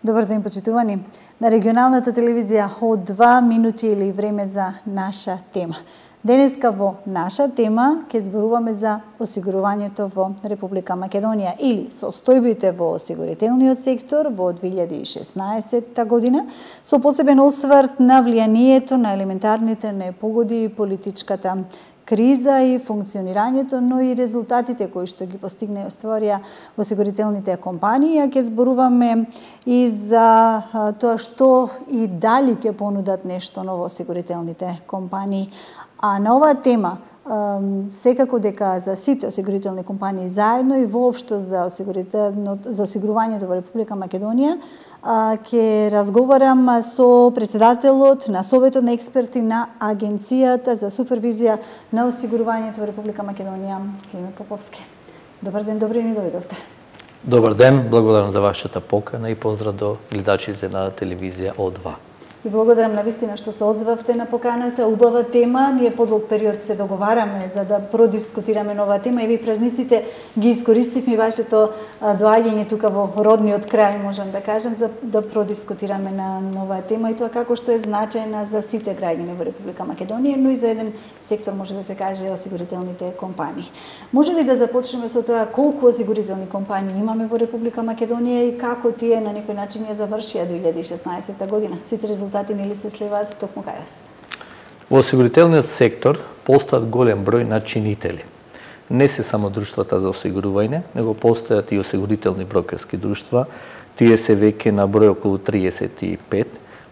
Добар ден, почитувани. На регионалната телевизија од 2 минути или време за наша тема. Денеска во наша тема ќе зборуваме за осигурувањето во Република Македонија или состојбите во осигурителниот сектор во 2016 година, со посебен осврт на влијанието на елементарните непогоди и политичката криза и функционирањето, но и резултатите кои што ги постигна и остварија осигурителните компании. Ќе зборуваме и за тоа што и дали ќе понудат нешто ново осигурителните компании. А на оваа тема, секако дека за сите осигурителни компании заедно и воопшто за осигурувањето во Република Македонија, ќе разговарам со председателот на Советот на експерти на Агенцијата за супервизија на осигурувањето во Република Македонија, Климе Поповски. Добар ден, добри ни дојдовте. Добар ден, благодарам за вашата покана и поздрав до гледачите на телевизија О2. И благодарам на вистина што се одзвавте на поканата, убава тема. Ние подолг период се договараме за да продискутираме нова тема и ви празниците ги искористивме вашето доаѓање тука во родниот крај, можам да кажем, за да продискутираме на нова тема и тоа како што е значајна за сите граѓани во Република Македонија, но и за еден сектор, може да се каже, осигурителните компании. Може ли да започнеме со тоа колку осигурителни компании имаме во Република Македонија и како тие на некој начин ја завршија 2016 година? Сите резултати нели се сливаат токму кај вас? Во осигурителниот сектор постојат голем број на чинители. Не се само друштвата за осигурување, него постојат и осигурителни брокерски друштва. Тие се веќе на број околу 35.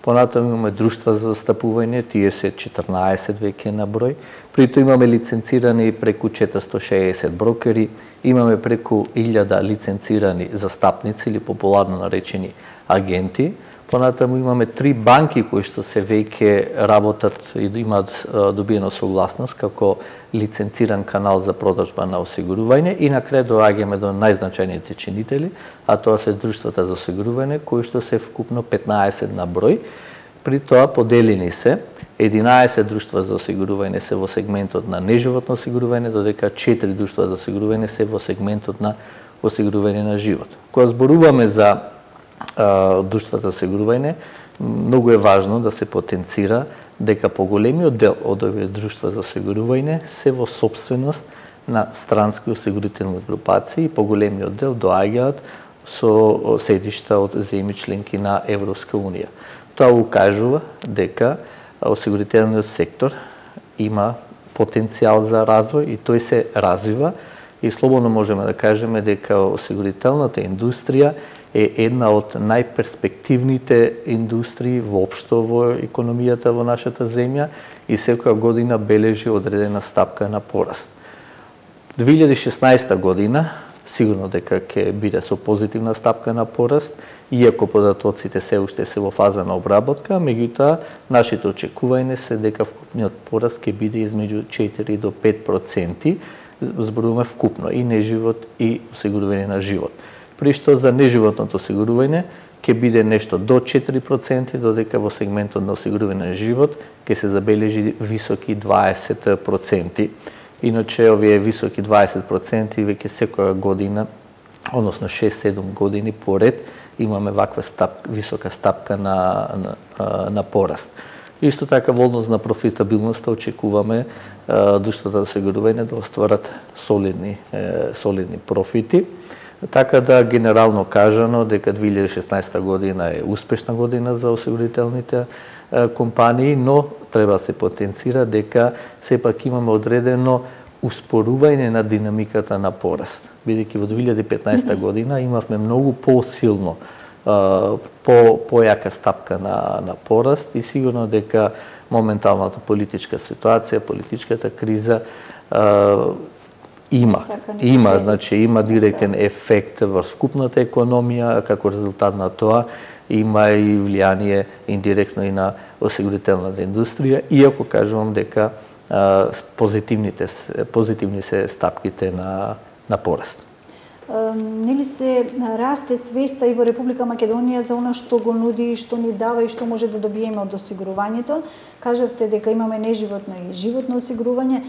Понатаму имаме друштва за застапување, тие се 14 веќе на број. Прито имаме лиценцирани преку 460 брокери, имаме преку 1000 лиценцирани застапници или популарно наречени агенти. Понатаму имаме 3 банки кои што се веќе работат и имаат добиено согласност како лиценциран канал за продажба на осигурување и на крај доаѓаме до најзначајните чинители, а тоа се друштвата за осигурување кои што се вкупно 15 на број. При тоа поделени се 11 друштва за осигурување се во сегментот на неживотно осигурување, додека 4 друштва за осигурување се во сегментот на осигурување на живот. Кога зборуваме за друштвата за осигурување, многу е важно да се потенцира дека поголемиот дел од овие друштва за осигурување се во собственост на странски осигурителни групации и поголемиот дел доаѓаат со седишта од земји членки на Европска унија. Тоа укажува дека осигурителниот сектор има потенцијал за развој и тој се развива и слободно можеме да кажеме дека осигурителната индустрија е една од најперспективните индустрии воопшто во економијата во нашата земја и секоја година бележи одредена стапка на пораст. 2016 година сигурно дека ќе биде со позитивна стапка на пораст, иако податоците се уште се во фаза на обработка, меѓутоа нашите очекувања се дека вкупниот пораст ќе биде измеѓу 4 до 5%, зборуваме вкупно и неживот и осигурување на живот. При што за неживотното осигурување ќе биде нешто до 4%, додека во сегментот на осигурување на живот ќе се забележи високи 20%. Иначе овие високи 20% веќе секоја година, односно 6-7 години поред, имаме ваква висока стапка на пораст. Исто така во однос на профитабилноста очекуваме друштвата за осигурување да остварат солидни профити. Така да генерално кажано дека 2016 година е успешна година за осигурителните компании, но треба да се потенцира дека сепак имаме одредено успорување на динамиката на пораст. Бидејќи во 2015 година имавме многу посилно појака стапка на пораст и сигурно дека моменталната политичка ситуација, политичката криза има директен ефект врз вкупната економија, како резултат на тоа има и влијание индиректно и на осигурителната индустрија, иако кажувам дека позитивни се стапките на пораст. нели се расте свеста и во Република Македонија за она што го нуди, што ни дава и што може да добиеме од осигурувањето. Кажавте дека имаме неживотно и животно осигурување.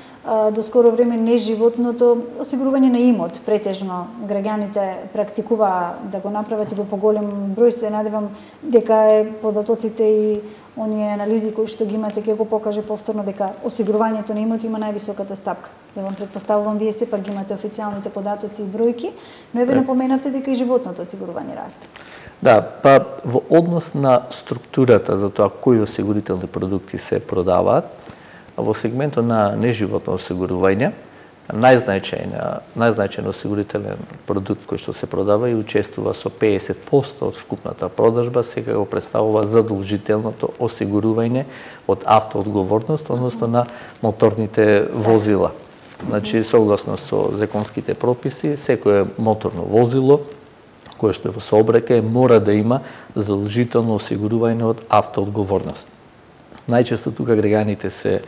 До скоро време неживотното осигурување на имот претежно граѓаните практикуваа да го направат и во поголем број. Се надевам дека податоците и оние анализи кои што ги имате ќе го покаже повторно дека осигурувањето на имот има највисоката стапка. Ја претпоставувам вие сепак ги имате официјалните податоци и бројки, но еве напоменавте дека и животното осигурување расте. Да, па во однос на структурата за тоа кои осигурителни продукти се продаваат, во сегментот на неживотно осигурување, најзначајен осигурителен продукт кој што се продава и учествува со 50% од вкупната продажба, сега го представува задолжителното осигурување од автоодговорност, односно на моторните возила. Значи, согласно со законските прописи, секое моторно возило кое што е во сообраќај мора да има задолжително осигурување од автоодговорност. Најчесто тука граѓаните се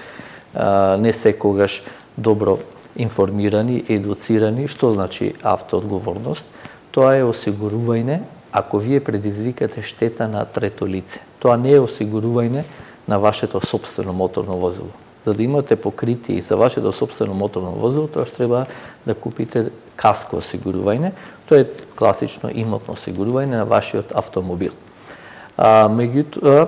не секогаш добро информирани, едуцирани што значи автоодговорност. Тоа е осигурување ако вие предизвикате штета на трето лице. Тоа не е осигурување на вашето сопствено моторно возило. За да имате покритие и за вашето сопствено моторно возило, тоа што треба да купите каско осигурување. Тоа е класично имотно осигурување на вашиот автомобил. Меѓутоа,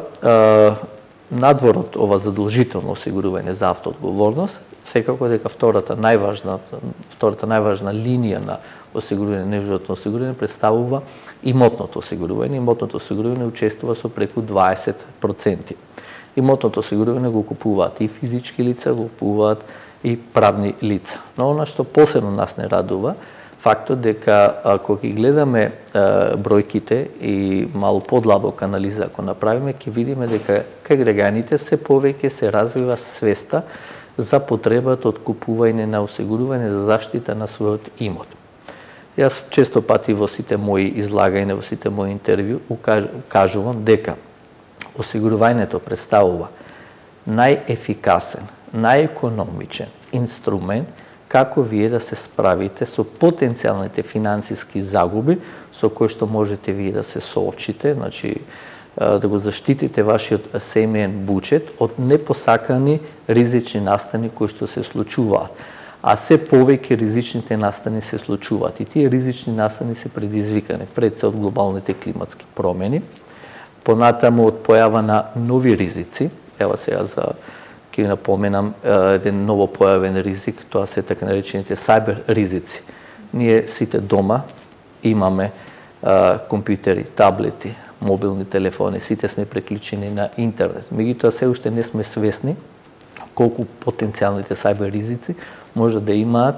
надвор од ова задолжително осигурување за автоодговорност, секако дека втората најважна линија на осигурување, неживотно осигурување представува имотното осигурување. Имотното осигурување учествува со преку 20%. Имотното осигурување го купуваат и физички лица, го купуваат и правни лица. Но она што посебно нас не радува, фактот дека ако ги гледаме бројките и малку подлабока анализа ако направиме, ќе видиме дека кај граѓаните се повеќе се развива свеста за потребата од купување на осигурување за заштита на својот имот. Јас често пати во сите мои излагања, во сите мои интервју кажувам дека осигурувањето представува најефикасен, најекономичен инструмент како вие да се справите со потенцијалните финансиски загуби со кои што можете вие да се соочите, значи да го заштитите вашиот семеен буџет од непосакани ризични настани кои што се случуваат. А се повеќе ризичните настани се случуваат и тие ризични настани се предизвикани пред се од глобалните климатски промени, понатаму од појава на нови ризици. Ева сега ќе напоменам еден ново појавен ризик, тоа се така наречените сайбер ризици. Ние сите дома имаме компјутери, таблети, мобилни телефони, сите сме преклучени на интернет. Меѓутоа се уште не сме свесни колку потенцијалните сайбер ризици може да имаат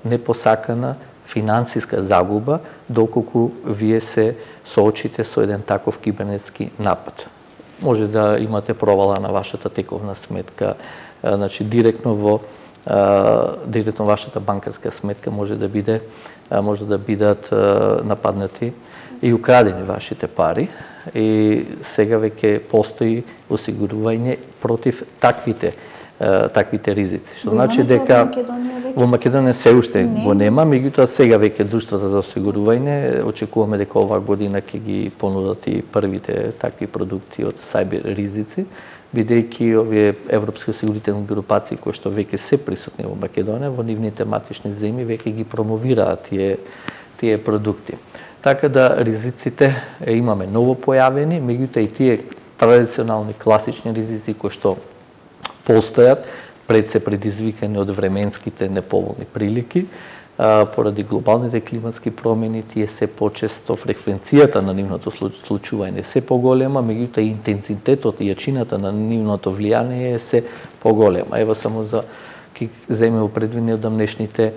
непосакана финансиска загуба доколку вие се соочите со еден таков кибернетски напад. Може да имате провала на вашата тековна сметка, значи директно вашата банкарска сметка може да бидат нападнати и украдени вашите пари. И сега веќе постои осигурување против таквите ризици. Што значи дека во Македонија се уште го нема, меѓутоа сега веќе друштвата за осигурување очекуваме дека оваа година ќе ги понудат и првите такви продукти од сайбер ризици, бидејќи овие европски осигурителни групации кои што веќе се присутни во Македонија, во нивните матични земји веќе ги промовираат тие продукти. Така да ризиците имаме ново појавени, меѓутоа и тие традиционални класични ризици кои што постојат пред се предизвикани од временските неповолни прилики, поради глобалните климатски промени, тие се почесто, фреквенцијата на нивното случување се поголема, меѓутоа и интензитетот и јачината на нивното влијание е се поголема. Ево само за ќе земеме предвидени од дамнешните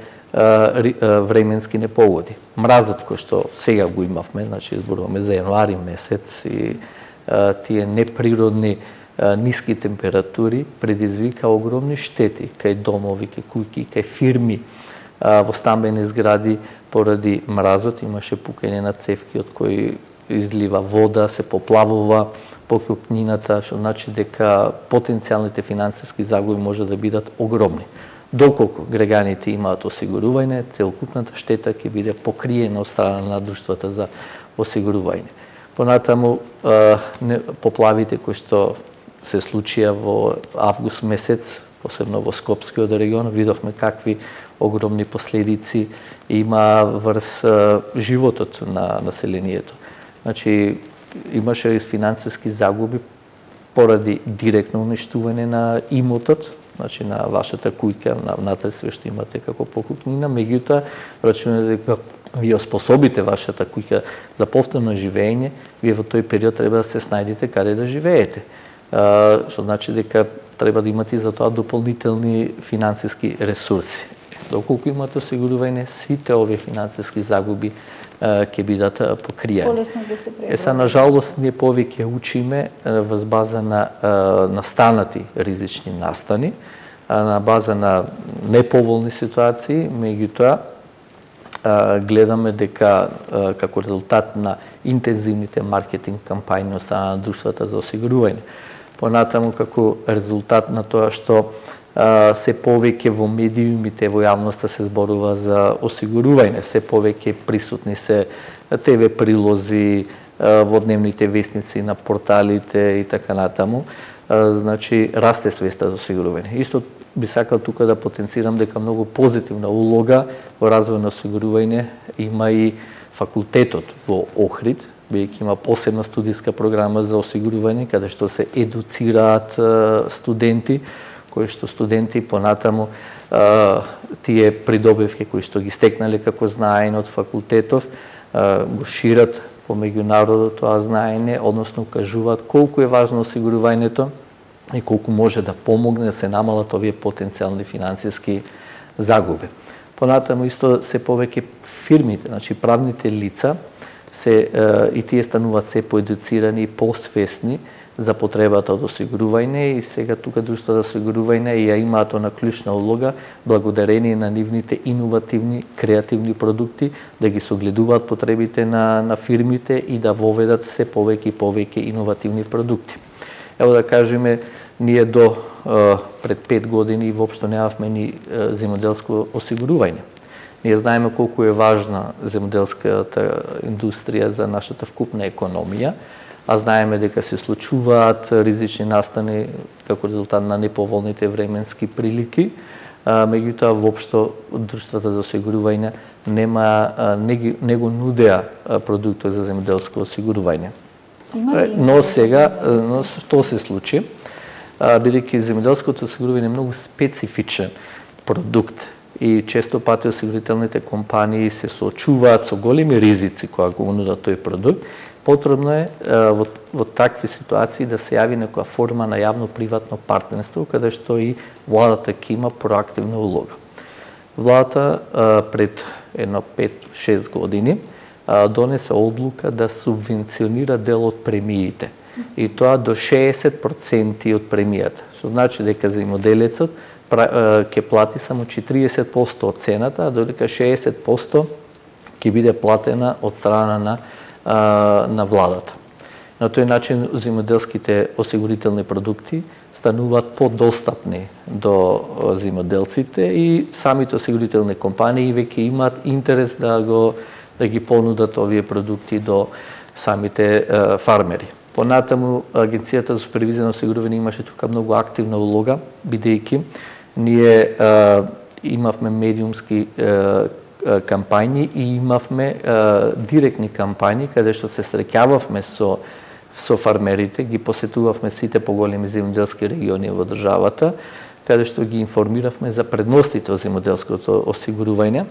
временски непогоди. Мразот кој што сега го имавме, значи зборуваме за јануари месец и тие неприродни ниски температури предизвика огромни штети кај домови, кај куќи, кај фирми, во стамбени згради поради мразот имаше пукање на цевки од кои излива вода, се поплавува покупнината, што значи дека потенцијалните финансиски загуби може да бидат огромни. Доколку граѓаните имаат осигурување, целокупната штета ќе биде покриена од страна на друштвата за осигурување. Понатаму, поплавите кои што се случија во август месец, посебно во Скопскиот регион, видовме какви огромни последици има врз животот на населението. Значи, имаше финансиски загуби поради директно уништување на имотот, значи на вашата куќа, внатре све што имате како покупнина, меѓутоа рачунате дека вие способите вашата куќа за повторно живење, вие во тој период треба да се снајдете каде да живеете. Што значи дека треба да имате за тоа дополнителни финансиски ресурси. Доколку имате осигурување, сите овие финансиски загуби ќе бидат покриени. Полесно ќе се преброи. На жалост, ние повеќе учиме врз база на настанати ризични настани, на база на неповолни ситуации, меѓутоа гледаме дека како резултат на интензивните маркетинг кампањи од страна на друштвата за осигурување, понатаму како резултат на тоа што се повеќе во медиумите, во јавноста се зборува за осигурување, се повеќе присутни се ТВ прилози, во дневните вестници, на порталите и така натаму, значи расте свеста за осигурување. Исто би сакал тука да потенцирам дека многу позитивна улога во развој на осигурување има и факултетот во Охрид, бидејќи има посебна студиска програма за осигурување, каде што се едуцираат студенти, кои што студенти понатаму тие придобивки кои што ги стекнале како знаење од факултетов, го шират по меѓународот тоа знаење, односно укажуваат колку е важно осигурувањето и колку може да помогне да се намалат овие потенцијални финансиски загуби. Понатаму исто се повеќе фирмите, значи правните лица, и тие стануваат се поедуцирани и посвесни за потребата од осигурување и сега тука друштва за осигурување ја имаат она клучна улога благодарение на нивните иновативни, креативни продукти да ги согледуваат потребите на фирмите и да воведат се повеќе и повеќе иновативни продукти. Ево да кажеме, ние до пред 5 години воопшто немавме ни земјоделско осигурување. Ние знаеме колку е важна земјоделската индустрија за нашата вкупна економија, а знаеме дека се случуваат ризични настани како резултат на неповолните временски прилики, меѓутоа воопшто друштвата за осигурување не го нудеа продуктот за земјоделско осигурување. Но сега, што се случи? Бидејќи земјоделското осигурување е многу специфичен продукт и често пати осигурителните компании се соочуваат со големи ризици кога го нудат тој продукт, потребно е во такви ситуации да се јави некоја форма на јавно-приватно партнерство, каде што и владата ќе има проактивна улога. Владата пред едно 5-6 години донесе одлука да субвенционира дел од премиите. И тоа до 60% од премијата. Што значи дека земјоделецот ќе плати само 40% од цената, а додека 60% ќе биде платена од страна на владата. На тој начин земјоделските осигурителни продукти стануваат подостапни до земјоделците и самите осигурителни компании веќе имаат интерес да ги понудат овие продукти до самите фармери. Понатаму, Агенцијата за супервизија на осигурување имаше тука многу активна улога, бидејќи ние имавме медиумски кампањи и имавме директни кампањи каде што се среќававме со фармерите, ги посетувавме сите поголеми земјоделски региони во државата, каде што ги информиравме за предностите од земјоделското осигурување,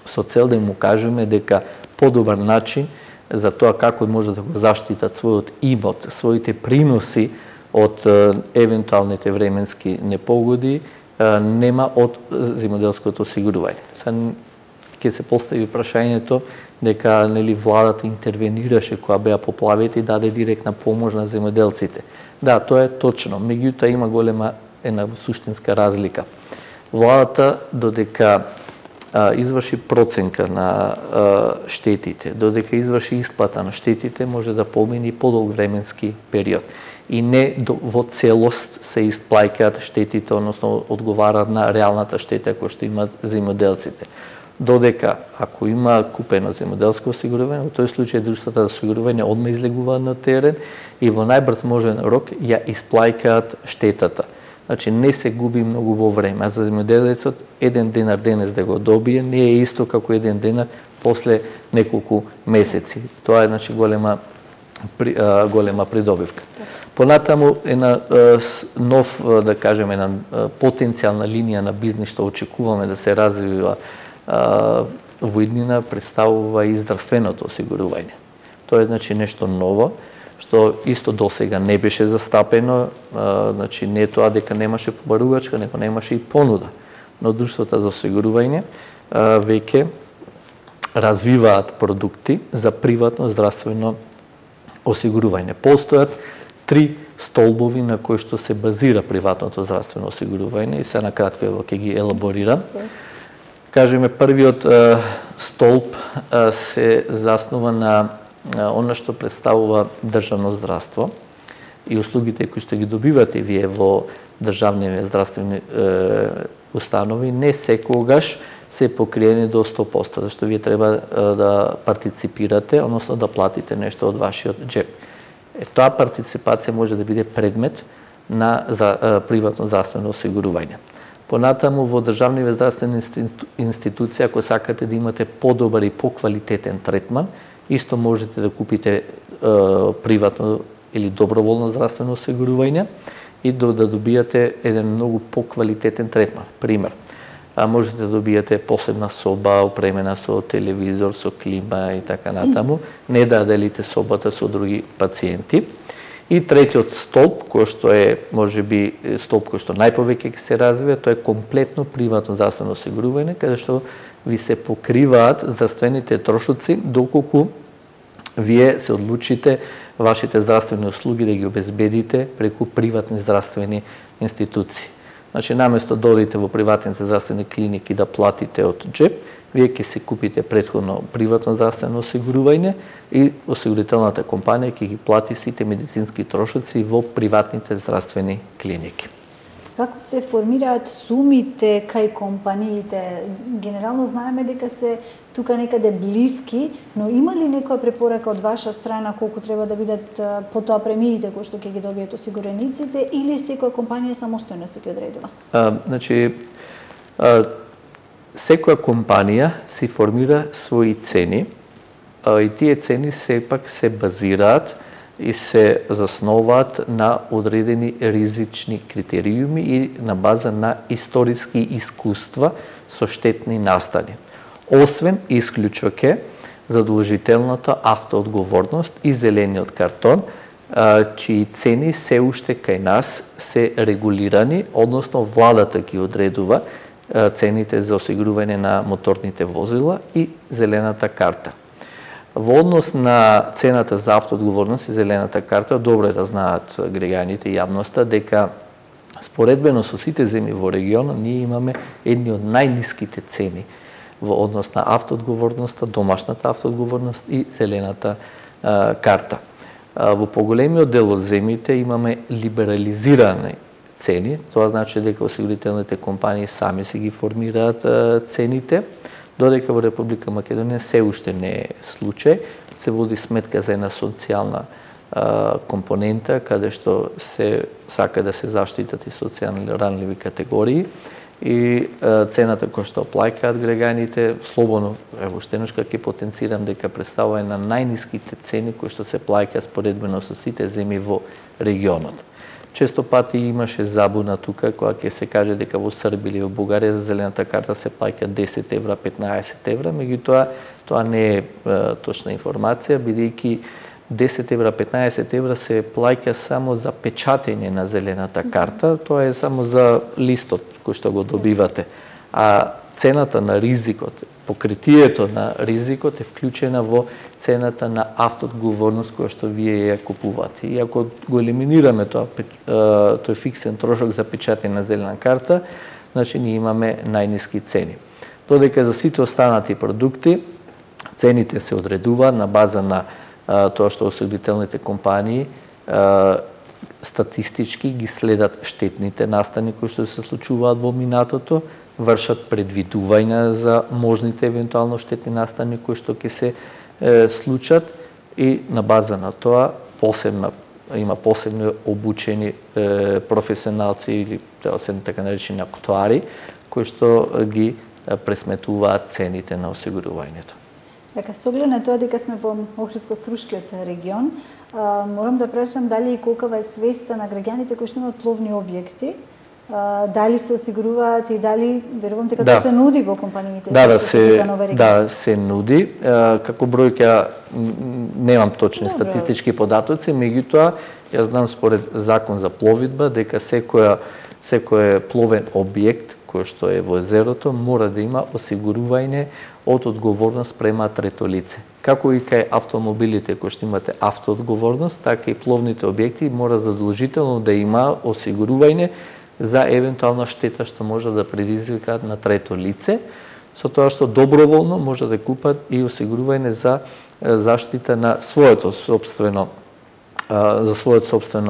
со цел да им кажеме дека подобар начин за тоа како може да го заштитат својот имот, своите приноси од евентуалните временски непогоди, нема од земјоделското осигурување. Ќе се постави прашањето дека владата интервенираше кога беа поплавите и даде директна помош на земјоделците. Да, тоа е точно, меѓутоа има голема една суштинска разлика. Владата додека изврши проценка на штетите, додека изврши исплата на штетите, може да помини подолг временски период. и не во целост се исплаќаат штетите, односно одговарат на реалната штета која што имаат земјоделците. Додека ако има купено земјоделско осигурување, во тој случај друштвата за осигурување одма излегуваат на терен и во најбрз можен рок ја исплаќаат штетата. Значи не се губи многу во време, а за земјоделецот 1 денар денес да го добие не е исто како 1 денар после неколку месеци. Тоа е значи голема придобивка. Понатаму една нов, да кажеме, една потенцијална линија на бизнис што очекуваме да се развива во иднина представува и здравственото осигурување. Тоа е значи нешто ново што исто досега не беше застапено, значи не е тоа дека немаше побарувачка, него немаше и понуда. Но друштвата за осигурување веќе развиваат продукти за приватно здравствено осигурување. Постојат 3 столбови на кои што се базира приватното здравствено осигурување и се накратко ќе ги елаборирам. Кажеме, првиот столб се заснува на она што представува државно здравство и услугите кои што ги добивате вие во државни здравствени установи не секогаш се покриени до 100%, зашто вие треба да партиципирате, односно да платите нешто од вашиот џеп. Таа партиципација може да биде предмет на приватно здравствено осигурување. Понатаму во државни здравствени институции, ако сакате да имате подобар и поквалитетен третман, исто можете да купите приватно или доброволно здравствено осигурување и да добијате еден многу поквалитетен третман. Пример, можете да добијате посебна соба опремена со телевизор, со клима и така натаму, не да делите собата со други пациенти. И третиот столб, кој што е можеби столб кој што најповеќе ќе се развива, тоа е комплетно приватно здравствено осигурување, каде што ви се покриваат здравствените трошоци доколку вие се одлучите вашите здравствени услуги да ги обезбедите преку приватни здравствени институции. Значи, наместо да одите во приватните здравствени клиники да платите од џеп, вие ќе се купите претходно приватно здравствено осигурување и осигурителната компанија ќе ги плати сите медицински трошоци во приватните здравствени клиники. Како се формираат сумите кај компаниите? Генерално знаеме дека се тука некаде блиски, но има ли некоја препорака од ваша страна колку треба да бидат потоа премиите кои што ќе ги добијат осигурениците или секоја компанија самостојно се ги одредува? Значи, секоја компанија си формира своји цени и тие цени сепак се базираат и се засноваат на одредени ризични критериуми и на база на историски искуства со штетни настани. Освен исклучок е задолжителната автоодговорност и зелениот картон, чии цени се уште кај нас се регулирани, односно владата ги одредува цените за осигурување на моторните возила и зелената карта. Во однос на цената за автоодговорност и зелената карта, добро е да знаат граѓаните и јавноста дека споредбено со сите земји во регионот ние имаме едни од најниските цени во однос на автоодговорноста, домашната автоодговорност и зелената карта. Во поголемиот дел од земјите имаме либерализирани цени, тоа значи дека осигурителните компании сами си ги формираат цените, додека во Република Македонија се уште не е случај, се води сметка за една социјална компонента, каде што се сака да се заштитат и социјално ранливи категории и цената која што плаќаат граѓаните, слободно, ево штеношка ќе потенцирам дека представува една најниските цени кои што се плаќа споредбено со сите земји во регионот. Често пати имаше забуна тука, кога ќе се каже дека во Србија или во Бугарија за зелената карта се плаќа 10 евра, 15 евра, меѓутоа тоа не е точна информација, бидејќи 10 евра, 15 евра се плаќа само за печатење на зелената карта, тоа е само за листот кој што го добивате. А цената на ризикот, покритието на ризикот е вклучена во цената на автоодговорност која што вие ја купувате. И ако го елиминираме тој фиксен трошок за печатење на зелена карта, значи ние имаме најниски цени. Додека за сите останати продукти цените се одредуваат на база на тоа што осигурителните компании статистички ги следат штетните настани кои што се случуваат во минатото, вршат предвидувања за можните евентуално штетни настани кои што ќе се случат и на база на тоа има посебно обучени професионалци или така наречени актуари кои што ги пресметуваат цените на осигурувањето. Така, со оглед на тоа дека сме во Охридско-Струшкиот регион, морам да прашам дали и колкава е свеста на граѓаните кои што имаат пловни објекти, дали се осигуруваат и дали верувам дека тоа се нуди во компаниите? Се нуди. Како бројка немам точни статистички податоци, меѓутоа јас знам според закон за пловидба дека секој пловен објект кој што е во езерото мора да има осигурување од одговорност према трето лице. Како и кај автомобилите кои што имате автоодговорност, така и пловните објекти мора задолжително да има осигурување за евентуална штета што може да предизвикаат на трето лице, со тоа што доброволно може да купат и осигурување за заштита на своето собствено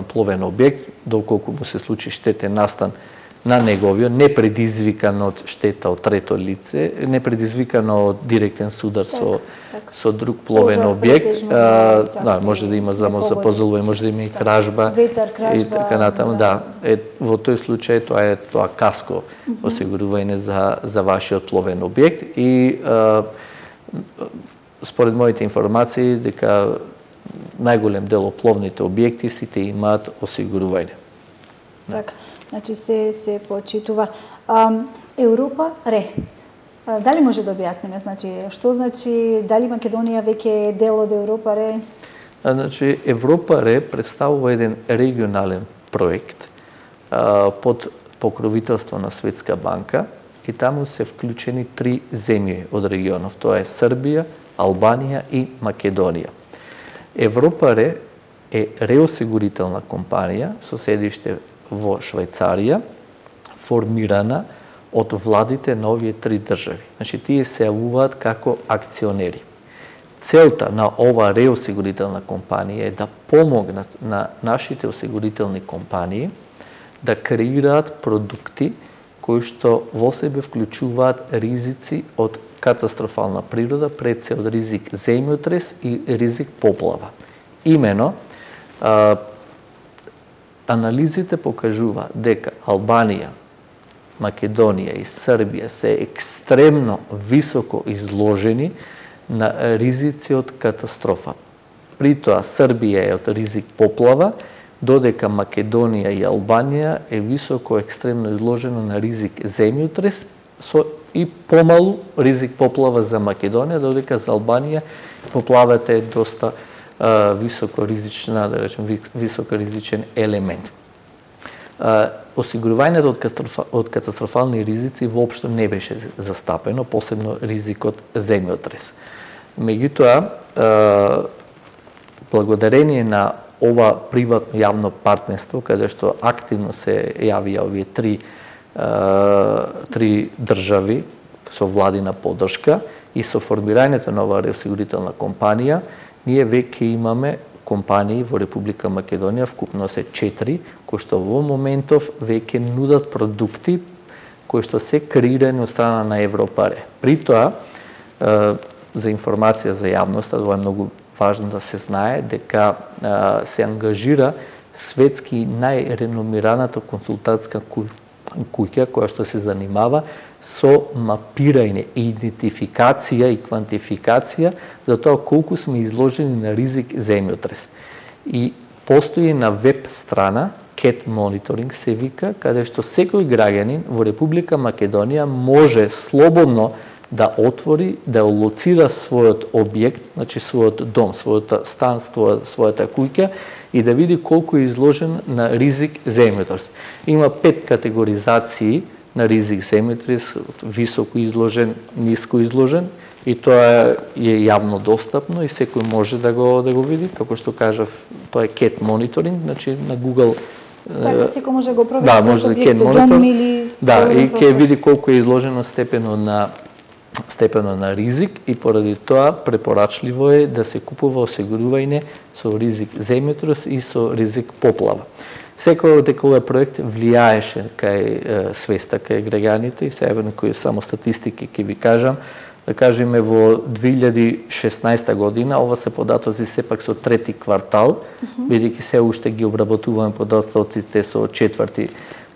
пловен објект, доколку му се случи штетен настан на неговиот, не предизвикан од штета од трето лице, не предизвикано од директен судар со друг пловен објект, може да има замозапозолување, може да има и кражба, и така натаму, во тој случај тоа каско осигурување за вашиот пловен објект и според моите информации дека најголем дел од пловните објекти сите имаат осигурување. Така. Значи се почитува. Европа ре. Дали може да објасниме? Значи, што значи дали Македонија веќе е дел од Европа ре? Значи, Европа ре представува еден регионален проект под покровителство на Светска банка и таму се вклучени 3 земји од регионов. Тоа е Србија, Албанија и Македонија. Европа ре е реосигурителна компанија со седиште во Швајцарија, формирана од владите на овие 3 држави. Значи, тие се јавуваат како акционери. Целта на ова реосигурителна компанија е да помогнат на нашите осигурителни компании да креираат продукти кои што во себе вклучуваат ризици од катастрофална природа, пред се од ризик земјотрес и ризик поплава. Имено, анализите покажуваат дека Албанија, Македонија и Србија се екстремно високо изложени на ризици од катастрофа. При тоа Србија е од ризик поплава, додека Македонија и Албанија е високо екстремно изложено на ризик земјотрес и помалу ризик поплава за Македонија, додека за Албанија поплавата е доста високо ризична, да речем, високо ризичен елемент. Осигурувањето од катастрофални ризици воопшто не беше застапено, посебно ризикот земјотрес. Меѓутоа, благодарение на ова приватно јавно партнерство, каде што активно се јавија овие 3 држави со владина поддршка и со формирањето на оваа реосигурителна компанија, ние веќе имаме компании во Република Македонија, вкупно се 4, кои што во моментов веќе нудат продукти кои што се креирани од страна на Европаре. При тоа, за информација за јавноста, тоа е многу важно да се знае, дека се ангажира светски најреномираната консултантска куќа која што се занимава со мапирање, идентификација и квантификација за тоа колку сме изложени на ризик земјотрес. И постои на веб страна CAT Monitoring се вика, каде што секој граѓанин во Република Македонија може слободно да отвори, да лоцира својот објект, значи својот дом, својот стан, својата куќа и да види колку е изложен на ризик земјотрес. Има 5 категоризации на ризик земјотрес, високо изложен, ниско изложен, и тоа е јавно достапно и секој може да го види, како што кажав, тоа е CAT Monitoring, значи на Google. Така, секој може да го провери својот објект, дом или... Да, и ќе види колку е изложено степено на ризик и поради тоа препорачливо е да се купува осигурување со ризик земјотрес и со ризик поплава. Секој дека овој проект влијаеше кај свеста кај граѓаните и сега некои само статистики ќе ви кажам. Да кажеме во 2016 година, ова се податоци сепак со трети квартал, бидејќи се уште ги обработуваме податоците со четврти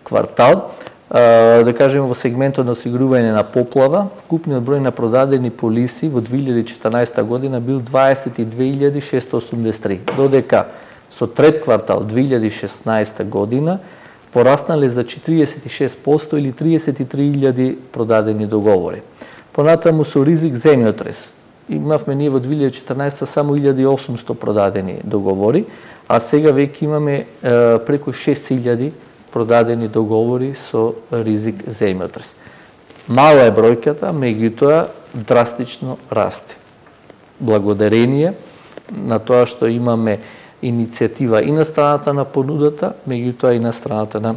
квартал. Да кажеме во сегментот на осигурување на поплава, вкупниот број на продадени полиси во 2014 година бил 22.683, додека со трет квартал 2016 година пораснале за 46% или 33.000 продадени договори. Понатаму со ризик земјотрес. Имавме ние во 2014 само 1.800 продадени договори, а сега веќе имаме преку 6.000 продадени договори со ризик земјотрес. Мала е бројката, меѓутоа драстично расте. Благодарение на тоа што имаме иницијатива и на страната на понудата, меѓутоа и на страната на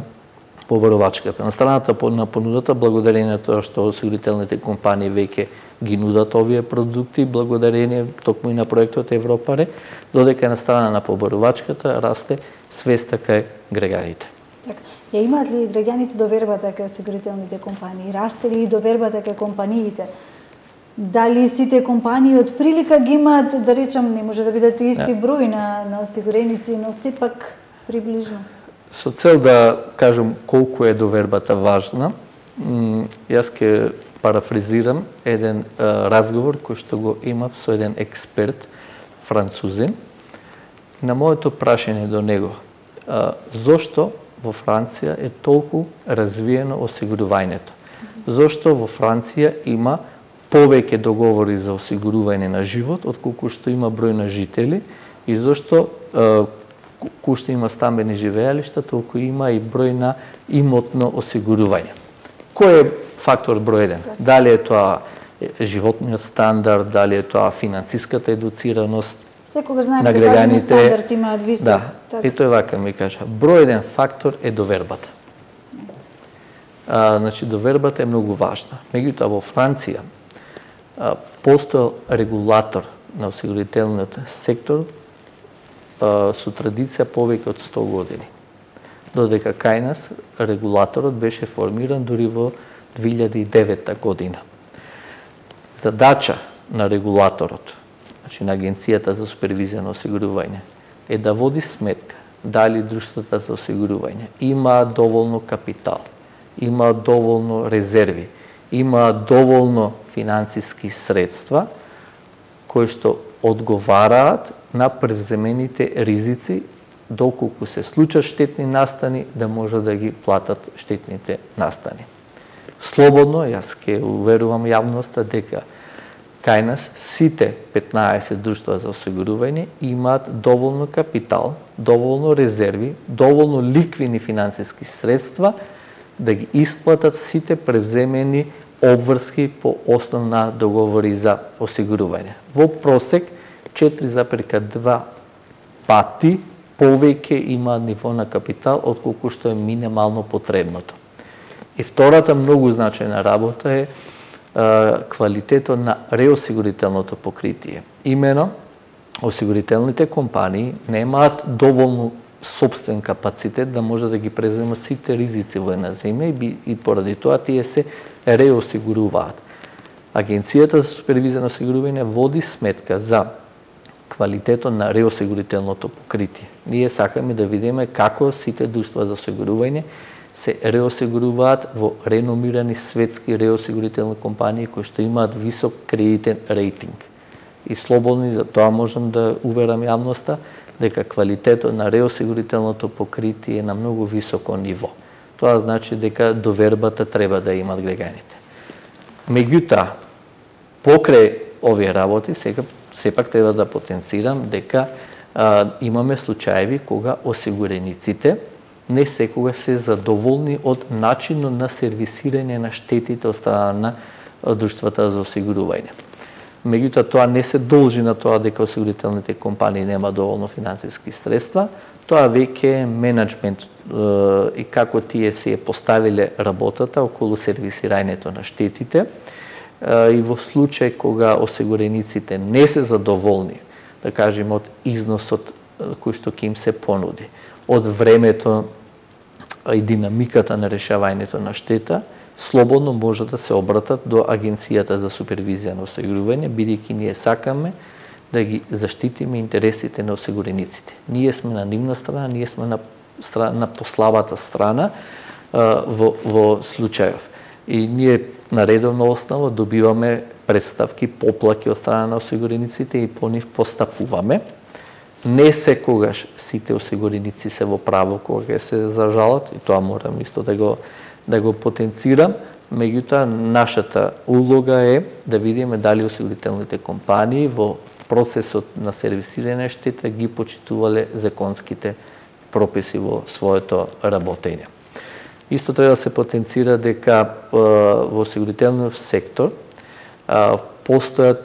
побарувачката. На страната на понудата, благодарение на тоа што осигурителните компании веќе ги нудат овие продукти, благодарение токму и на проектот Европаре, додека на страна на побарувачката расте свеста кај граѓаните. Така, ја имаат ли граѓаните довербата кај осигурителните компании? Расте ли довербата кај компаниите? Дали сите компании од прилика ги имаат, да речам, не може да бидат исти број на осигуреници, но сепак приближно? Со цел да кажам колку е довербата важна, јас ќе парафризирам еден разговор кој што го имав со еден експерт французин. На моето прашање до него, зошто во Франција е толку развиено осигурувањето? Зошто во Франција има повеќе договори за осигурување на живот отколку што има број на жители и зошто кој што има стамбени живеалишта, толку има и број на имотно осигурување. Кој е фактор број 1? Дали е тоа животниот стандард, дали е тоа финансиската едуцираност секогаш знаеме на граѓаните, граѓаните, стандард имаат висок. Да, така. и тој вака ми кажа. Број 1 фактор е довербата. Значи, довербата е многу важна. Меѓутоа, во Франција постоел регулатор на осигурителниот сектор со традиција повеќе од 100 години. Додека кај нас регулаторот беше формиран дури во 2009 година. Задача на регулаторот, значи на Агенцијата за супервизија на осигурување, е да води сметка дали друштвата за осигурување имаат доволно капитал, имаат доволно резерви, имаат доволно финансиски средства кои што одговараат на превземените ризици, доколку се случат штетни настани, да може да ги платат штетните настани. Слободно, јас ќе уверувам јавноста дека кај нас сите 15 друштва за осигурување имаат доволно капитал, доволно резерви, доволно ликвидни финансиски средства да ги исплатат сите превземени обврски по основ на договори за осигурување. Во просек 4,2 пати повеќе има ниво на капитал отколку што е минимално потребното. И втората многу значајна работа е квалитетот на реосигурителното покритие. Имено, осигурителните компании немаат доволно собствен капацитет да може да ги преземат сите ризици во една земја и поради тоа тие се реосигуруваат. Агенцијата за супервизија на осигурување води сметка за квалитетот на реосигурителното покритие. Ние сакаме да видиме како сите друштва за осигурување се реосигуруваат во реномирани светски реосигурителни компании кои што имаат висок кредитен рейтинг. И слободно за тоа можам да уверам јавноста дека квалитетот на реосигурителното покритие е на многу високо ниво. Тоа значи дека довербата треба да имат граѓаните. Меѓутоа, покрај овие работи, сепак треба да потенцирам дека имаме случаеви кога осигурениците не секогаш се задоволни од начинот на сервисирање на штетите од страна на друштвата за осигурување. Меѓутоа, тоа не се должи на тоа дека осигурителните компании нема доволно финансиски средства, тоа веќе е менеджмент и како тие се поставиле работата околу сервисирањето на штетите и во случај кога осигурениците не се задоволни, да кажем, од износот кој што ќе им се понуди, од времето и динамиката на решавањето на штета, слободно може да се обратат до Агенцијата за супервизија на осигурување, бидејќи ние сакаме да ги заштитиме интересите на осигурениците. Ние сме на нивна страна, ние сме на послабата страна во случајов. И ние на редовна основа добиваме представки, поплаки од страна на осигурениците и по нив постапуваме. Не секогаш сите осигуреници се во право кога се зажалат, и тоа морам исто да го потенцирам, меѓутоа нашата улога е да видиме дали осигурителните компании во процесот на сервисирање штета ги почитувале законските прописи во своето работење. Исто треба да се потенцира дека во осигурителниот сектор постојат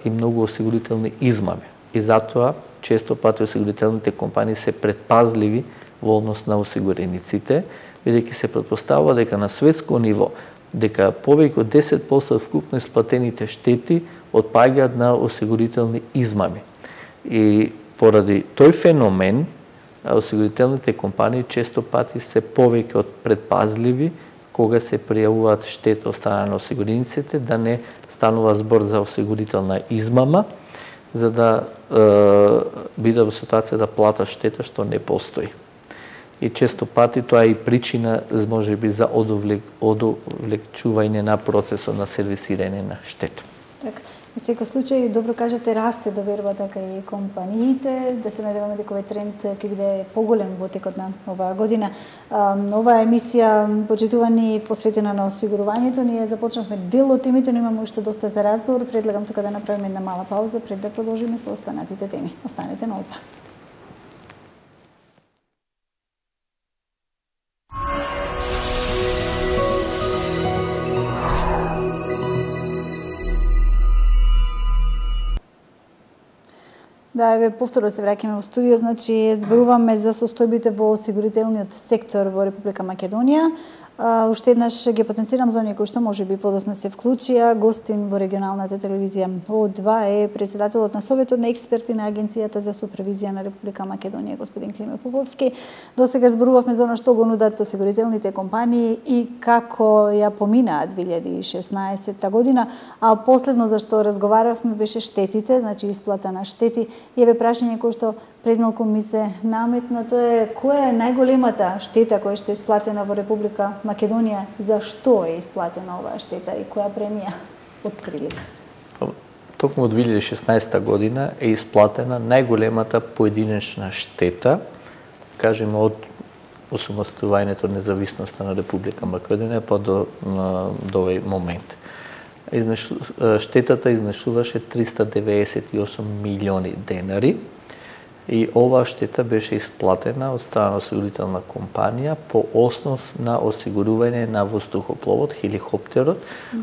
и многу осигурителни измами. И затоа често пати осигурителните компании се предпазливи во однос на осигурениците, бидејќи се претпоставува дека на светско ниво дека повеќе од 10% од вкупно исплатените штети отпаѓаат на осигурителни измами. И поради тој феномен осигурителните компании често пати се повеќе од предпазливи кога се пријавуваат штета од страна на осигурениците, да не станува збор за осигурителна измама, за да биде во ситуација да плата штета што не постои. И често пати тоа е и причина можеби за одовлечување на процесот на сервисирање на штета. Така. Во секој случај, добро кажете, расте довербата кај компаниите, да се надеваме дека овој тренд ќе биде поголем во текот на оваа година. Оваа емисија, почитувани, посветена на осигурувањето, ние започнавме дел од темите, но имаме уште доста за разговор. Предлагам тука да направиме една мала пауза пред да продолжиме со останатите теми. Останете на О2. Да, еве повторно се враќаме во студио, значи зборуваме за состојбите во осигурителниот сектор во Република Македонија. Уште еднаш ги потенцирам за оние кои што можеби подосна се вклучија. Гостин во регионалната телевизија О2 е председателот на Советот на експерти на Агенцијата за супервизија на Република Македонија, господин Климе Поповски. Досега зборувавме за она што го нудат осигурителните компании и како ја поминаа 2016 година, а последно за што разговаравме беше штетите, значи исплата на штети. И еве прашање кој што пред малку ми се наметна, тоа е која е најголемата штета која што е исплатена во Република Македонија, зашто е исплатена оваа штета и која премија од прилика? Токму од 2016 година е исплатена најголемата поединечна штета, кажеме од осамостувањето независноста на Република Македонија па до овој момент. Штетата изнашуваше 398 милиони денари и оваа штета беше исплатена од страна на осигурителна компанија по основ на осигурување на воздухопловот, хеликоптерот,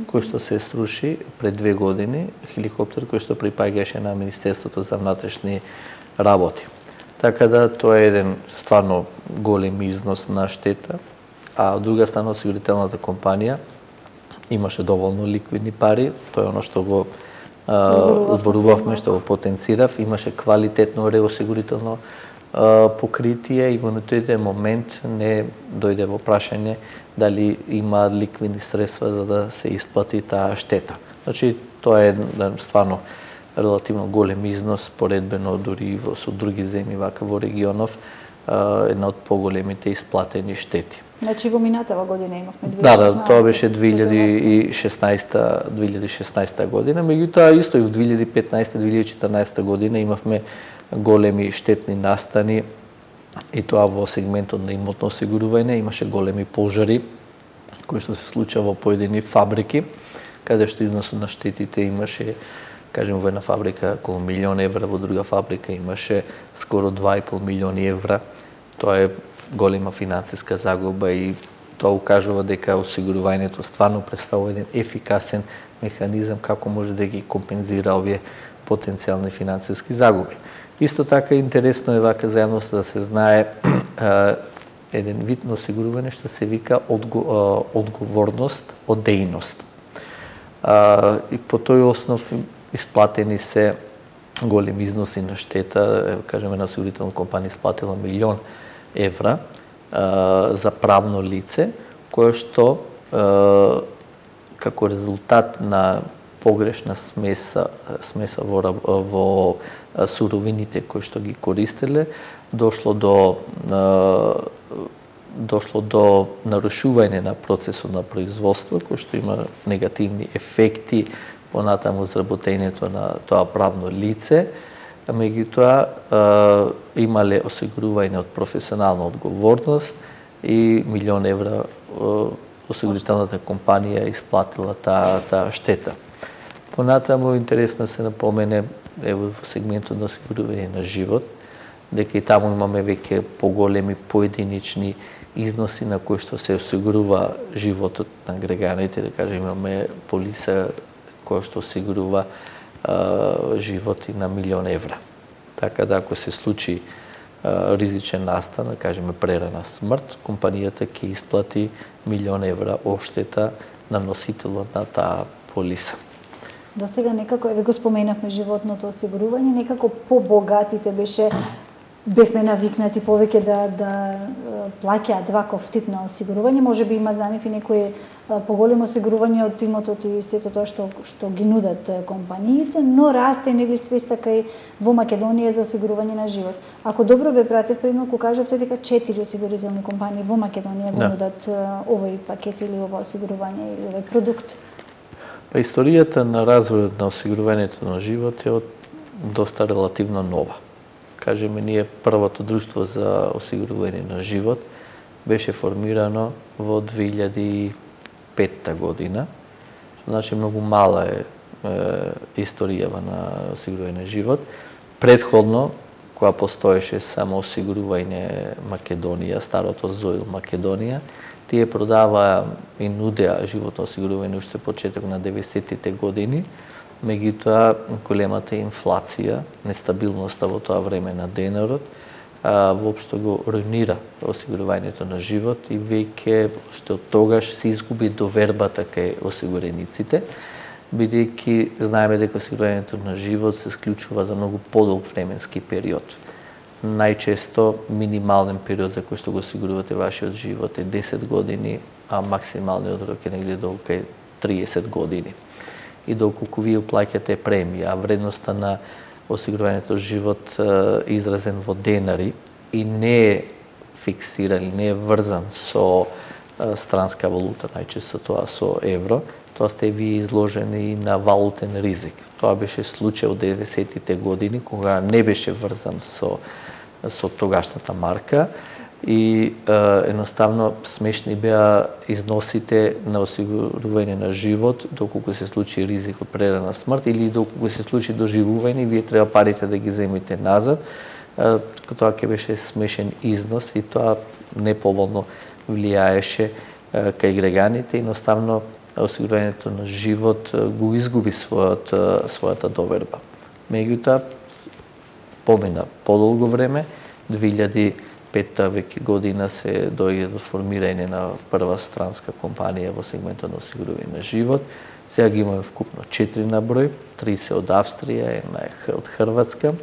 кој што се сруши пред 2 години, хеликоптер кој што припаѓаше на Министерството за внатрешни работи. Така да тоа е еден стварно голем износ на штета, а од друга страна осигурителната компанија имаше доволно ликвидни пари, тоа е оно што го зборувавме, што го потенцирав, имаше квалитетно реосигурително покритие и во тој момент не дојде во прашање дали има ликвидни средства за да се исплати таа штета. Значи, тоа е стварно релативно голем износ, поредбено дури со други земји вака во регионов, една од поголемите исплатени штети. Значи во минатава година имавме 2016. Да, тоа беше 2016 година, меѓутоа исто и во 2015-2014 година имавме големи штетни настани и тоа во сегментот на имотно осигурување, имаше големи пожари кои што се случува во поедини фабрики, каде што износот на штетите имаше, кажем, во една фабрика околу 1 милион евра, во друга фабрика имаше скоро 2,5 милиони евра. Тоа е голема финансиска загуба и тоа укажува дека осигурувањето стварно представува еден ефикасен механизам како може да ги компензира овие потенцијални финансиски загуби. Исто така интересно е вака за јавноста да се знае еден вид на осигурување што се вика одговорност од дејност. И по тој основ исплатени се големи износи на штета, кажеме на осигурителна компанија исплатила 1 милион евра за правно лице, кое што како резултат на погрешна смеса во суровините кои што ги користеле, дошло до нарушување на процесот на производство, кој што има негативни ефекти понатаму изработењето на тоа правно лице. Меѓутоа, имале осигурување од професионална одговорност и милион евра осигурителната компанија исплатила таа штета. Понатаму интересно се напомене во сегментот на осигурување на живот, дека и таму имаме веќе поголеми поединични износи на кои што се осигурува животот на граѓаните, да кажем имаме полиса која што осигурува животи на милион евра. Така да ако се случи ризичен настан, да кажеме прерана смрт, компанијата ќе исплати милион евра одштета на носителот на таа полиса. До сега некако, еве го споменавме животното осигурување, некако побогатите бевме навикнати повеќе да плаќаат ваков тип на осигурување, можеби има за нив и некои поголемо осигурување од имотот и сето тоа што ги нудат компаниите, но расте нели свеста кај во Македонија за осигурување на живот. Ако добро ве пратев, примерно кажавте дека 4 осигурителни компании во Македонија го нудат овој пакет или ова осигурување или овој продукт. Па историјата на развојот на осигурувањето на живот е доста релативно нова. Кажеме, ние првото друштво за осигурување на живот беше формирано во 2005 година. Значи многу мала е историјава на осигурување на живот. Предходно, кога постоеше само осигурување Македонија, старото ЗОИЛ Македонија, тие продаваа и нудеа животно осигурување уште почеток на 90-тите години. Меѓутоа, големата инфлација, нестабилноста во тоа време на денарот, воопшто го руинира осигурувањето на живот и веќе што од тогаш се изгуби довербата кај осигурениците, бидејќи знаеме дека осигурувањето на живот се склучува за многу подолг временски период. Најчесто минимален период за кој што го осигурувате вашиот живот е 10 години, а максималниот рок е негде до 30 години. И доколку вие плаќате премија, а вредноста на осигурувањето живот изразен во денари и не е фиксиран, не е врзан со странска валута, најчесто тоа со евро, тоа сте ви изложени на валутен ризик. Тоа беше случај од 90-тите години, кога не беше врзан со тогашната марка и едноставно смешни беа износите на осигурување на живот, доколку се случи ризик од прерана смрт или доколку се случи доживување, вие треба парите да ги земите назад, тоа ќе беше смешен износ и тоа неповолно влијаеше кај граѓаните и едноставно осигурувањето на живот го изгуби својата доверба. Меѓутоа, помина подолго време, 2005 веќе година се дојде до формирање на прва странска компанија во сегментот на осигурување на живот. Сега ги имаме вкупно 4 на број, 3 се од Австрија, една е од Хрватска.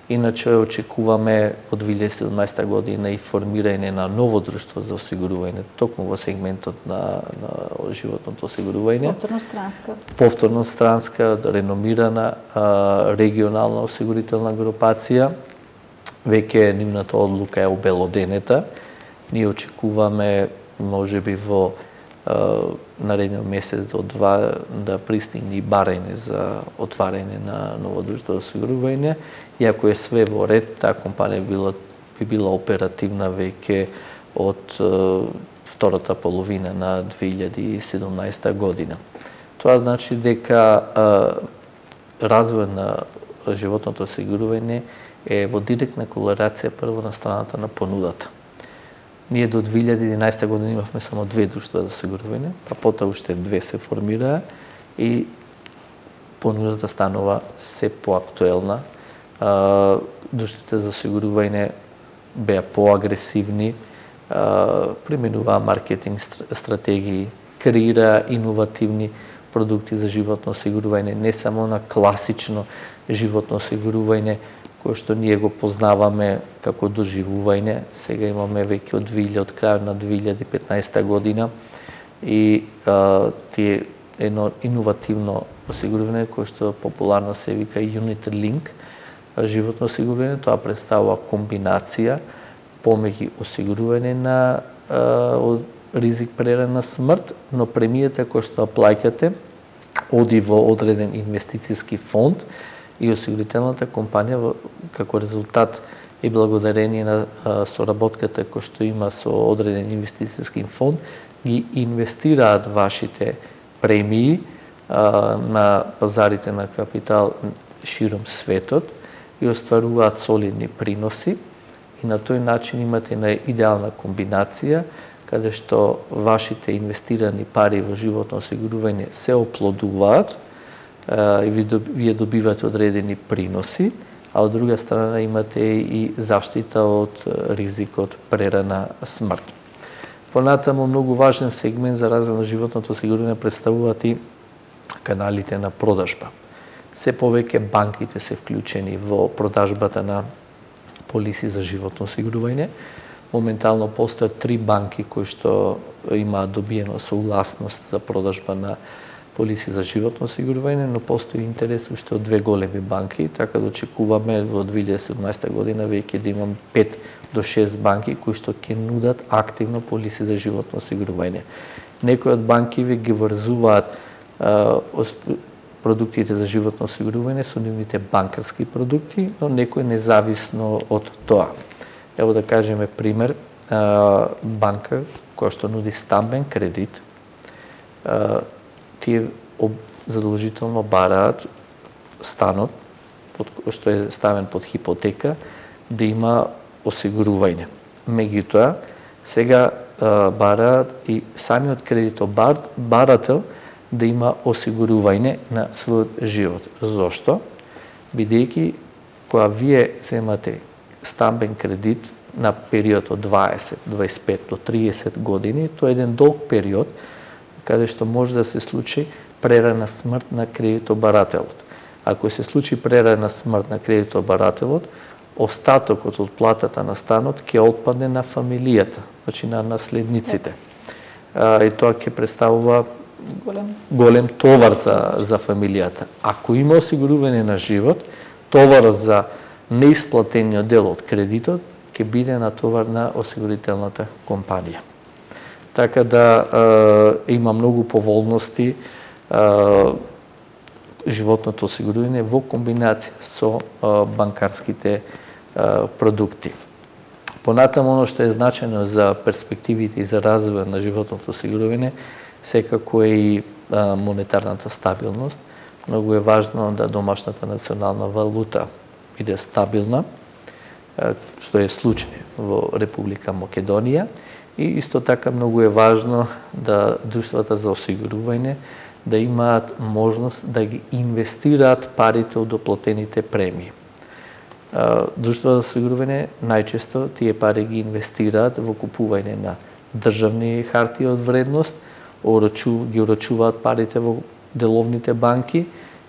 Иначе очекуваме од 2017 година и формирање на ново друштво за осигурување, токму во сегментот на животното осигурување. Повторно странска, реномирана регионална осигурителна групација. Веќе нивната одлука е обелоденета. Ние очекуваме можеби во наредниот месец до 2 да пристигне барање за отварање на ново друштво за осигурување. И ако е све во ред, таа компанија би била оперативна веќе од втората половина на 2017 година. Тоа значи дека развој на животното осигурување е во директна корелација прво на страната на понудата. Ние до 2011 година имавме само 2 друштва за осигурување, па потоа уште 2 се формираа и понудата станува се поактуелна. Друштвите за осигурување беа поагресивни, применуваа маркетинг стратегии, креираа иновативни продукти за животно осигурување, не само на класично животно осигурување, кој што ние го познаваме како доживување. Сега имаме веќе од крај на 2015 година и тие едно иновативно осигурување кој што популарно се вика Unit Link животно осигурување. Тоа представува комбинација помеѓу осигурување на ризик прерана смрт, но премијата која што плаќате оди во одреден инвестициски фонд и осигурителната компанија како резултат и благодарение на соработката која што има со одреден инвестициски фонд ги инвестираат вашите премии на пазарите на капитал широм светот и остваруваат солидни приноси и на тој начин имате една идеална комбинација каде што вашите инвестирани пари во животно осигурување се оплодуваат и вие добивате одредени приноси, а од друга страна имате и заштита од ризикот прерана смрт. Понатаму многу важен сегмент за развој на животното осигурување представуваат и каналите на продажба. Се повеќе банките се вклучени во продажбата на полиси за животно осигурување. Моментално постојат 3 банки кои што имаат добиено согласност за продажба на полиси за животно осигурување, но постои интерес уште од 2 големи банки, така да очекуваме во 2017 година веќе да имам 5 до 6 банки кои што ќе нудат активно полиси за животно осигурување. Некои од банки ви ги врзуваат продуктите за животно осигурување со нивните банкарски продукти, но некои независно од тоа. Ево да кажеме пример, банка која што нуди стамбен кредит, тие задолжително бараат станот што е ставен под хипотека да има осигурување. Меѓутоа, сега бараат и самиот кредитобарател да има осигурување на својот живот. Зошто? Бидејќи кога вие земате стамбен кредит на период од 20, 25 до 30 години, тоа е еден долг период каде што може да се случи прерана смрт на кредитобарателот. Ако се случи прерана смрт на кредитобарателот, остатокот од платата на станот ќе отпадне на фамилијата, значи на наследниците. И тоа ќе представува голем товар за фамилијата. Ако има осигурување на живот, товарот за неисплатениот дел од кредитот ќе биде натовар на осигурителната компанија. Така да има многу поволности животното осигурување во комбинација со банкарските продукти. Понатаму, оно што е значено за перспективите и за развој на животното осигурување, секако е и монетарната стабилност. Многу е важно да домашната национална валута биде стабилна, што е случај во Република Македонија. И исто така многу е важно да друштвата за осигурување да имаат можност да ги инвестираат парите од доплатените премии. Друштвата за осигурување најчесто тие пари ги инвестираат во купување на државни хартии од вредност, ги орачуваат парите во деловните банки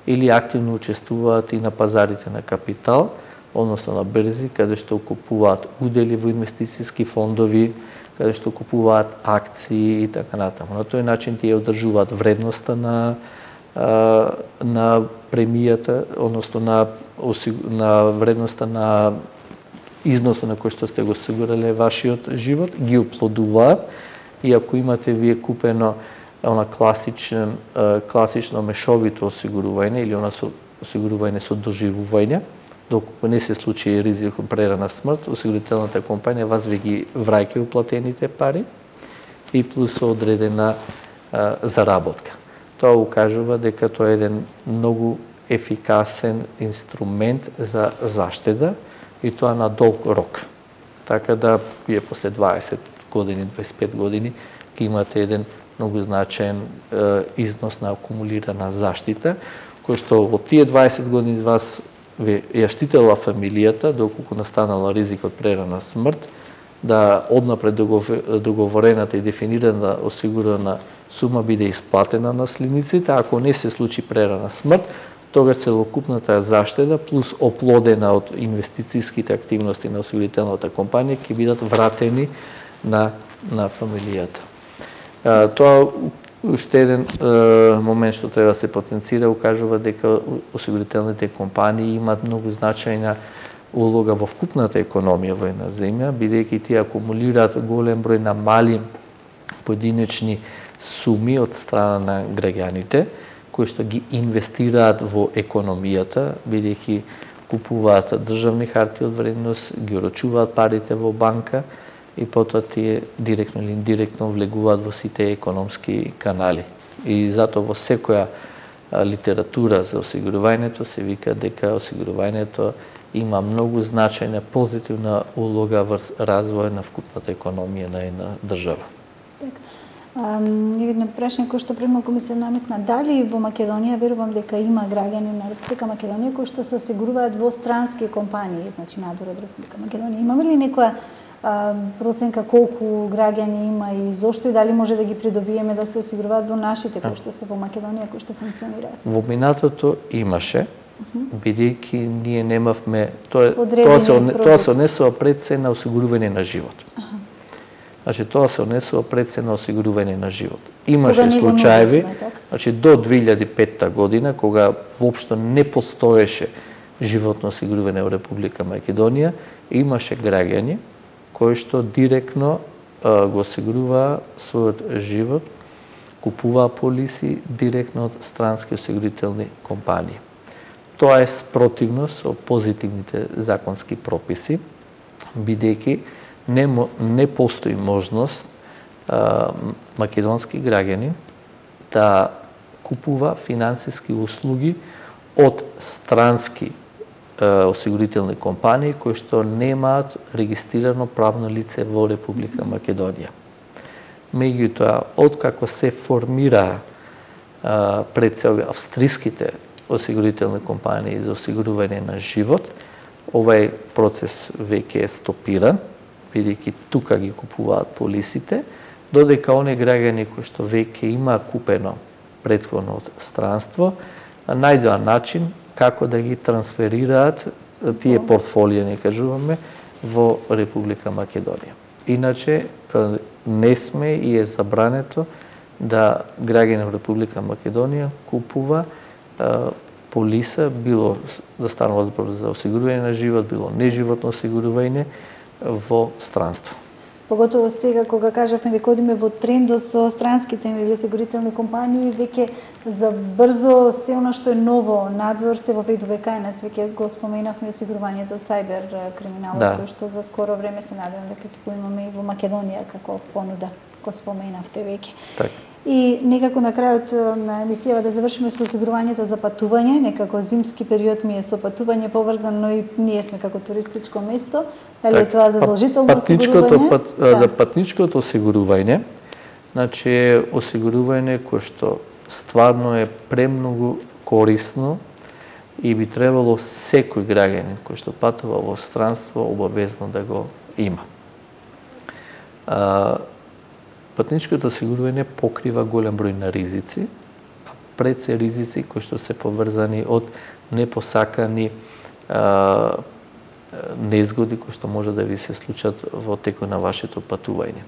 или активно учествуваат и на пазарите на капитал, односно на берзи, каде што купуваат удели во инвестициски фондови, каде што купуваат акции и така натаму. На тој начин тие одржуваат вредноста на премијата, односно на вредноста на износот на кој што сте го осигурале вашиот живот, ги оплодуваат и ако имате вие купено класично мешовито осигурување или осигурување со доживување, доколку не се случи ризик од прерана смрт, осигурителната компанија вас ви ги враќа уплатените пари и плюс одредена заработка. Тоа укажува дека тоа е еден многу ефикасен инструмент за заштеда и тоа на долг рок. Така да вие после 20 години, 25 години ќе имате еден многу значаен износ на акумулирана заштита, кој што во тие 20 години вас ја штитела фамилијата, доколку настанала ризик од прерана смрт, да однапред договорената и дефинирана осигурана сума биде исплатена на наследниците, ако не се случи прерана смрт, тогаш целокупната заштеда плюс оплодена од инвестицијските активности на осигурителната компанија ќе бидат вратени на фамилијата. Тоа уште еден момент што треба да се потенцира, укажува дека осигурителните компании имаат многу значајна улога во вкупната економија во една земја, бидејќи тие акумулираат голем број на мали поединечни суми од страна на граѓаните, кои што ги инвестираат во економијата, бидејќи купуваат државни харти од вредност, ги орочуваат парите во банка и потоа тие директно или индиректно влегуваат во сите економски канали. И затоа во секоја литература за осигурувањето се вика дека осигурувањето има многу значајна позитивна улога врз развој на вкупната економија на една држава. Едно прашање кој што пред малку ми се наметна, дали во Македонија, верувам дека има граѓани на Република Македонија кои што се осигуруваат во странски компании, значи надвор од Република Македонија. Имаме ли некоја проценка колку граѓани има и зошто и дали може да ги придобиеме да се осигуруваат во нашите кои што се во Македонија, кои што функционираат? Во минатото имаше, бидејќи ние немавме тоа се однесува пред се на осигурување на живот. Значи тоа се однесува пред се на осигурување на живот. Имаше случаеви, значи до 2005 година кога воопшто не постоеше животно осигурување во Република Македонија, имаше граѓани кои што директно го осигуруваа својот живот, купуваа полиси директно од странски осигурителни компании. Тоа е спротивно со позитивните законски прописи, бидејќи не постои можност македонски граѓани да купува финансиски услуги од странски осигурителни компании кои што немаат регистрирано правно лице во Република Македонија. Меѓутоа, откако се формира пред се австриските осигурителни компании за осигурување на живот, овај процес веќе е стопиран, бидејќи тука ги купуваат полисите, додека оние граѓани кои што веќе има купено претходно од странство, најдоа начин како да ги трансферираат тие портфолија, не кажуваме, во Република Македонија. Иначе не сме и е забрането да граѓани во Република Македонија купува полиса, било да станува збор за осигурување на живот, било неживотно осигурување во странство. Поготово сега кога кажавме дека одиме во трендот со странските или осигурителни компании, веќе за брзо се она што е ново надвор се воведува кај нас, веќе го споменавме осигурувањето од сајбер криминалот, кој што за скоро време се надевам дека ќе го имаме и во Македонија како понуда, го споменавте веќе. Так. И некако на крајот на емисијава да завршиме со осигурувањето за патување, некако зимски период ми е со патување поврзан, но и ние сме како туристичко место. Дали е тоа задолжително осигурување? За патничкото осигурување, значи е осигурување кое што стварно е премногу корисно и би требало секој граѓанин кој што патува во странство обавезно да го има. Патничкото осигурување покрива голем број на ризици, пред се ризици кои што се поврзани од непосакани незгоди кои што може да ви се случат во текот на вашето патување.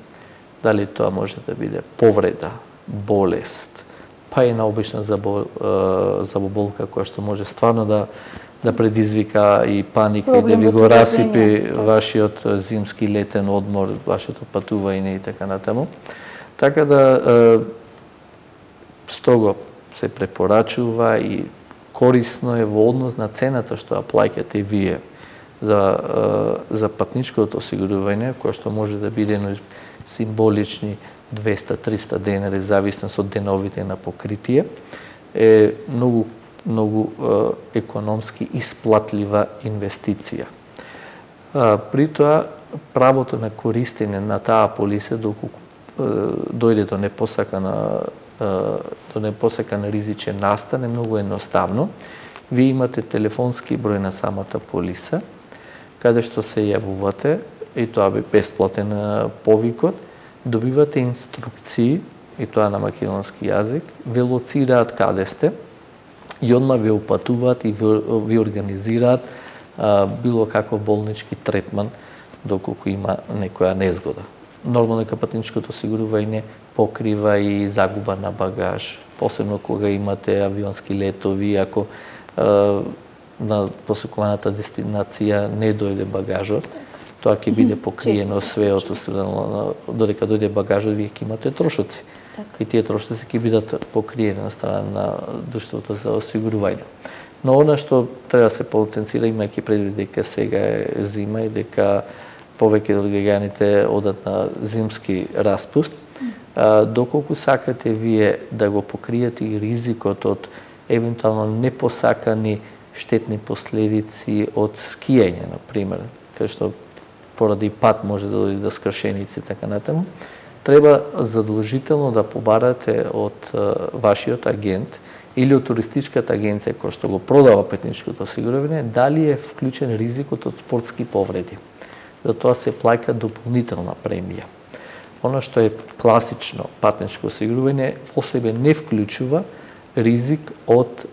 Дали тоа може да биде повреда, болест, па и на обична заболка која што може стварно да предизвика и паника и да ви го расипи вашиот зимски летен одмор, вашето патување и така натаму. Така да строго се препорачува и корисно е во однос на цената што ја плаќате вие за патничкото осигурување, кое што може да биде символични 200-300 денари, зависно од деновите на покритие, е многу економски исплатлива инвестиција. При тоа, правото на користење на таа полиса, доколку дојде до непосакан ризичен настан, е многу едноставно. Вие имате телефонски број на самата полиса, каде што се јавувате, и тоа би бесплатен повикот, добивате инструкции, и тоа на македонски јазик, ве лоцираат каде сте, и одма ве упатуваат и ви организираат било каков болнички третман доколку има некоја незгода. Нормално дека патничкото осигурување покрива и загуба на багаж, посебно кога имате авионски летови, ако на посекуваната дестинација не дојде багажот, тоа ќе биде покриено све од страна, додека дојде багажот, вие ќе имате трошоци. И тие трошоци ќе бидат покриени на страна на друштвото за осигурување. Но она што треба да се потенцира, имајќи предвид дека сега е зима и дека повеќе од граѓаните одат на зимски распуст, доколку сакате вие да го покриете и ризикот од евентуално непосакани штетни последици од скијање, на пример, кај што поради пат може да дојде до скршеници и така натаму, треба задолжително да побарате од вашиот агент или од туристичката агенција која што го продава патничкото осигурување, дали е вклучен ризикот од спортски повреди. За тоа се плаќа дополнителна премија. Оно што е класично патничко осигурување во себе не вклучува ризик од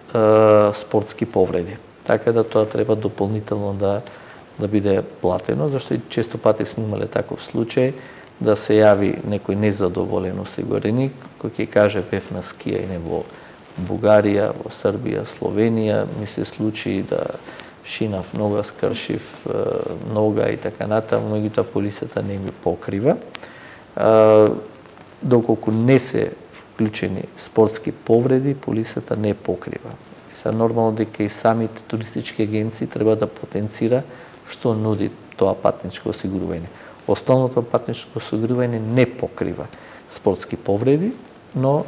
спортски повреди. Така да тоа треба дополнително да биде платено, зашто и често пати сме имале таков случај да се јави некој незадоволен осигуреник кој ќе каже бев на скијање во Бугарија, во Србија, Словенија, ми се случи да шинав нога, скршив нога и така натаму, меѓутоа полисата не ми покрива. Доколку не се вклучени спортски повреди, полисата не покрива. Са нормално дека и самите туристички агенции треба да потенцира што нуди тоа патничко осигурување. Основното патничко осигурување не покрива спортски повреди, но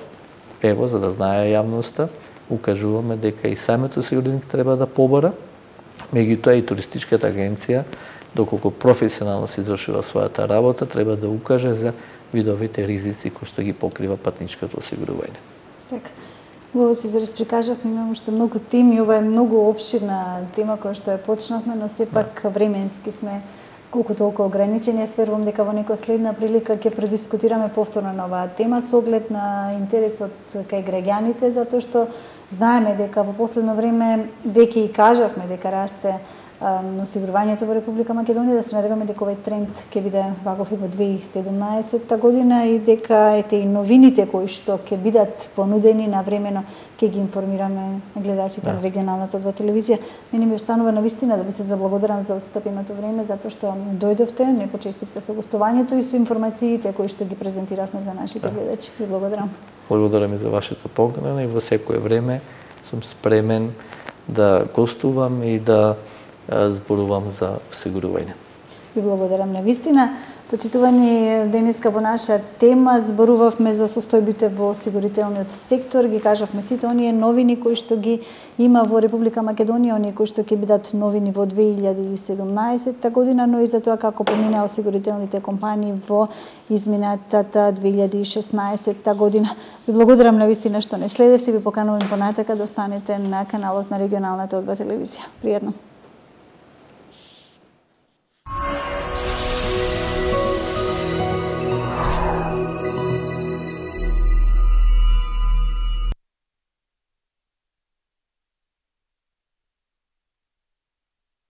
ево, за да знае јавноста, укажуваме дека и самиот осигуреник треба да побара, меѓутоа и туристичката агенција, доколку професионално се извршува својата работа, треба да укаже за видовите ризици кои што ги покрива патничкото осигурување. Така. Убаво си расприкажавме, имам уште многу теми, ова е многу опширна тема која што ја почнавме, но сепак временски сме колку толку ограничени. Јас верувам дека во некоја следна прилика ќе предискутираме повторно на оваа тема со оглед на интересот кај граѓаните, затоа што знаеме дека во последно време веќе и кажавме дека расте осигурувањето во Република Македонија, да се надеваме дека овој тренд ќе биде ваков и во 2017 година и дека ете и новините кои што ќе бидат понудени навремено ќе ги информираме гледачите на регионалната телевизија. Мене ми останува навистина да ви се заблагодарам за отстапеното време, затоа што дојдовте, не почестивте со гостувањето и со информациите кои што ги презентиравме за нашите гледачи. Ви благодарам. Благодарам и за вашето покана и во секое време сум спремен да гостувам и да зборувам за осигурување. Ви благодарам на вистина. Почитувани, денеска во наша тема зборувавме за состојбите во осигурителниот сектор, ги кажавме сите оние новини кои што ги има во Република Македонија, оние кои што ќе бидат новини во 2017 година, но и за тоа како поминаа осигурителните компании во изминатата 2016 година. Ви благодарам на вистина што не следевте, ви поканувам понатака да останете на каналот на регионалната телевизија. Пријатно.